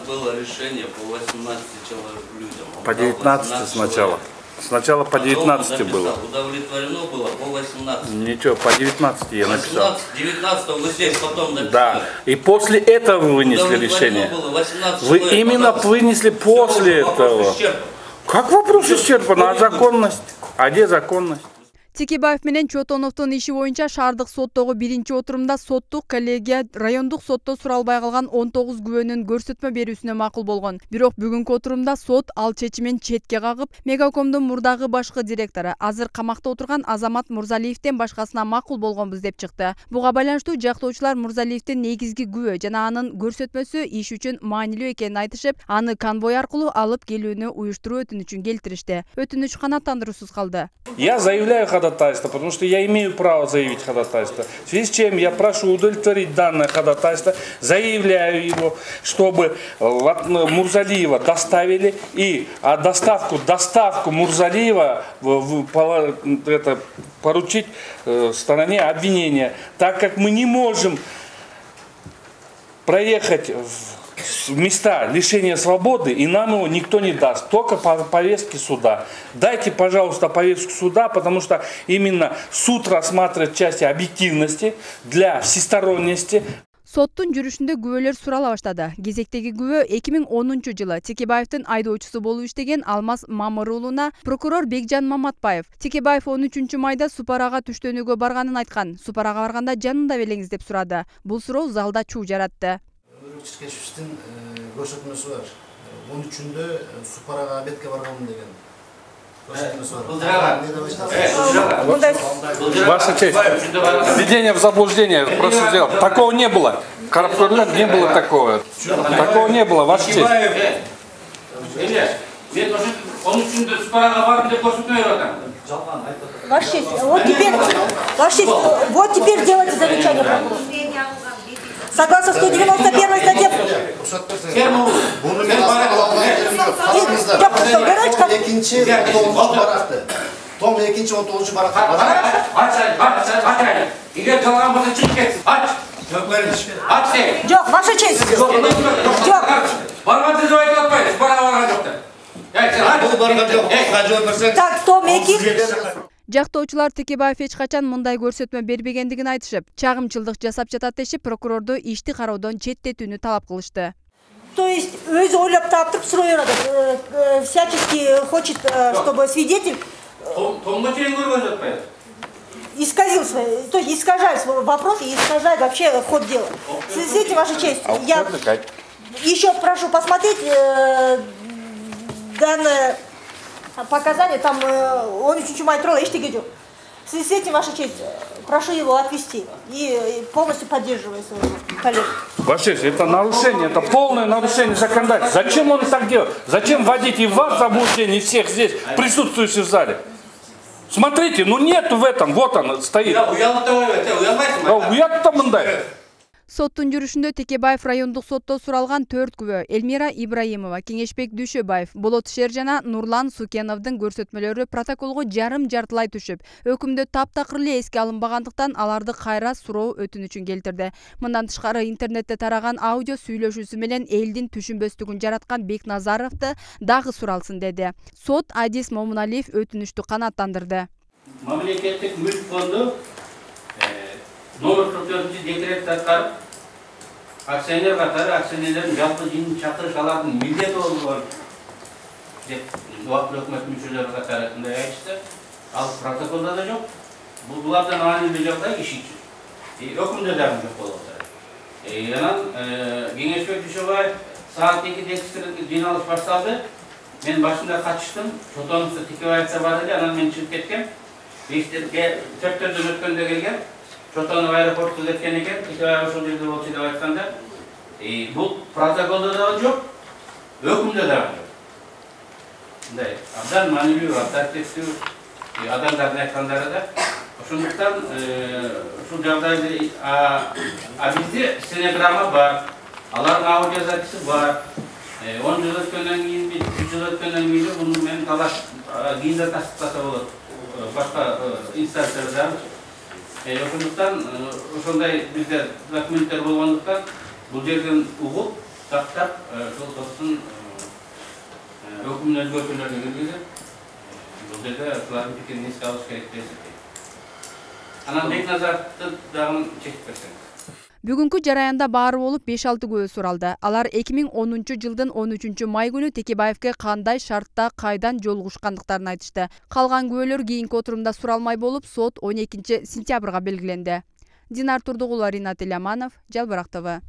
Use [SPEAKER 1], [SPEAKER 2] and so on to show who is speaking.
[SPEAKER 1] было решение по 18 людям.
[SPEAKER 2] По 19 сначала. Сначала по 19 было.
[SPEAKER 1] Удовлетворено было по 18.
[SPEAKER 2] Ничего, по 19 я написал.
[SPEAKER 1] 19 вы здесь потом написали.
[SPEAKER 2] Да. И после этого вы вынесли решение. Вы именно вынесли после этого. Как вопрос исчерпан? А законность? А где законность?
[SPEAKER 3] Текебаев менен Чотоновдун иши боюнча шаардык соттогу биринчи отурумда соттук коллегия райондук сотто суралбай калган 19 күбөнүн көрсөтмө берүүсүнө макул болгон. Бирок бүгүнкү отурумда сот ал чечимин четке кагып, Мегакомдун мурдагы башкы директору, азыр камакта отурган Азамат Мурзалиевден башкасына макул болгонбуз деп чыкты. Буга байланыштуу жактоочулар Мурзалиевдин негизги күбө жана анын көрсөтмөсү иш үчүн маанилүү экенин айтышып, аны конвой аркылуу алып келүүнү уюштуруу өтүнүчүн келтиришти. Өтүнүч канааттандыруусуз калды.
[SPEAKER 2] Я заявляю ходатайство, потому что я имею право заявить ходатайство. В связи с чем я прошу удовлетворить данное ходатайство, заявляю его, чтобы Мурзалиева доставили и доставку Мурзалиева поручить стороне обвинения, так как мы не можем проехать в места лишения свободы, и нам его никто не даст, только по повестке суда. Дайте, пожалуйста, повестку суда, потому что именно суд рассматривает части объективности для всесторонности.
[SPEAKER 3] Соттун жүрүшүндө күбөлөр сурала баштады. Кезектеги күбө 2010-жылы Текебаевдин айдоочусу болуп иштеген Алмаз Мамыр уулуна прокурор Бекжан Маматбаев. Текебаев 13-майда Супарага түштөнүүгө барганын айткан. Супарага барганда жанында белеңиз деп сурады. Бул суроо залда чуу жаратты.
[SPEAKER 4] Чиркешевичтин көрсөтмөсү бар. 13-үндө Супарага обедке барганмын деген.
[SPEAKER 2] Ваша честь, введение в заблуждение, прошу сделать. Такого не было. Коррупционер не было такого. Такого не было, ваша честь.
[SPEAKER 5] Ваша честь, вот теперь делайте замечание прокурору. Согласно 191 статье.
[SPEAKER 4] Том экинчи 19 баракта.
[SPEAKER 6] Эгер калган болсо чыгып кетсин. Ач.
[SPEAKER 5] Жок, ваша честь. Жок.
[SPEAKER 6] Бармады деп айтып атпайбыз. Бара барган жок да.
[SPEAKER 5] Так, Том эки.
[SPEAKER 3] Жактоочулар Текебаев эч качан мындай көрсөтмө бербегендигин айтышып, чагымчылдык жасап жатат дешип, прокурорду ишти кароодон четтетүүнү талап кылышты.
[SPEAKER 5] То есть өзү ойлоп таптырып суроо берет. Всячески хочет, чтобы свидетель
[SPEAKER 6] Томго чейин көргөн жатпайбы?
[SPEAKER 5] исказил свой, то есть искажает свой вопрос и искажает вообще ход дела. В связи с этим, ваша честь, я еще прошу посмотреть данное показания, там он очень чумай тролла, ештеге жок. В связи с этим, ваша честь, прошу его отвести и полностью поддерживаю своего коллегу.
[SPEAKER 2] Ваша честь, это нарушение, это полное нарушение законодательства. Зачем он так делает? Зачем вводить и вас в заблуждение, и всех здесь, присутствующих в зале? Смотрите, ну нет в этом, вот он стоит.
[SPEAKER 3] Соттун жүрүшүндө Текебаев райондук сотто суралган 4 күбө Элмира Ибраимова, Кеңешбек Дүйшөбаев, Болот Шер жана Нурлан Сукеновдун көрсөтмөлөрү протоколго жарым-жартылай түшүп, өкүмдө таптакыр эле эске алынбагандыктан аларды кайра суроо өтүнүчүн келтирди. Мындан тышкары интернетте тараган аудио сүйлөшүүсү менен элдин түшүнбөстүгүн жараткан Бекназаровду дагы суралсын деди. Сот Адис Момуналиев өтүнүчтү канааттандырды.
[SPEAKER 6] Мамлекеттик мүлк фонду номер 44 декрет таркалып, акционер катары акционерлердин жалпы жыйынын чакырыш алардын милдети болгон деп убактылуу өкмөт мүчөлөрү катары мындай айтышты. Ал протоколдо да жок. Булардан маанилүү жагдай иш үчүн. Өкүмдө дагы жок болуп атат. Анан Кеңешбек Дүйшөбаев саат 2-де жыйналыш башталды. Мен башында катыштым. Чотоновдо Текебаевда бар эле, анан мен чыгып кеткем. 4-төрдөн өткөндө келген. Чотонов аэропортко кеткен экен, Текебаев ошол жерде болчу деп айтканда, бул протоколдо да жок, өкүмдө да жок. Мындай абдан маанилүү, авторитеттүү адамдардын айткандары да. Ошондуктан ушул жагдайды бизде стенограмма бар, алардын аудиозаписи бар. 10 жыл өткөндөн кийин, 3 жыл өткөндөн кийин муну мен талаш кийинде тастыктаса болот. Башка инстанцияларда ошондуктан ошондой бизде документтер болгондуктан бул жерден угуп тактап, ошол соттун өкүмүн өзгөртүүлөрүн киргизип, бул жерде булардын пикирин эске алыш керек деп эсептейм. Анан Бекназаровду дагы чечип берсеңиз.
[SPEAKER 3] Бүгүнкү жараянда баары болуп 5-6 күбө суралды. Алар 2010-жылдын 13 май күнү Текебаевке кандай шартта кайдан жолугушкандыктарын айтышты. Калган күбөлөр кийинки отурумда суралмай болуп, сот 12 сентябрга белгиленди. Динар Турдугулова, Ринат Иляманов, Жалбырак ТВ.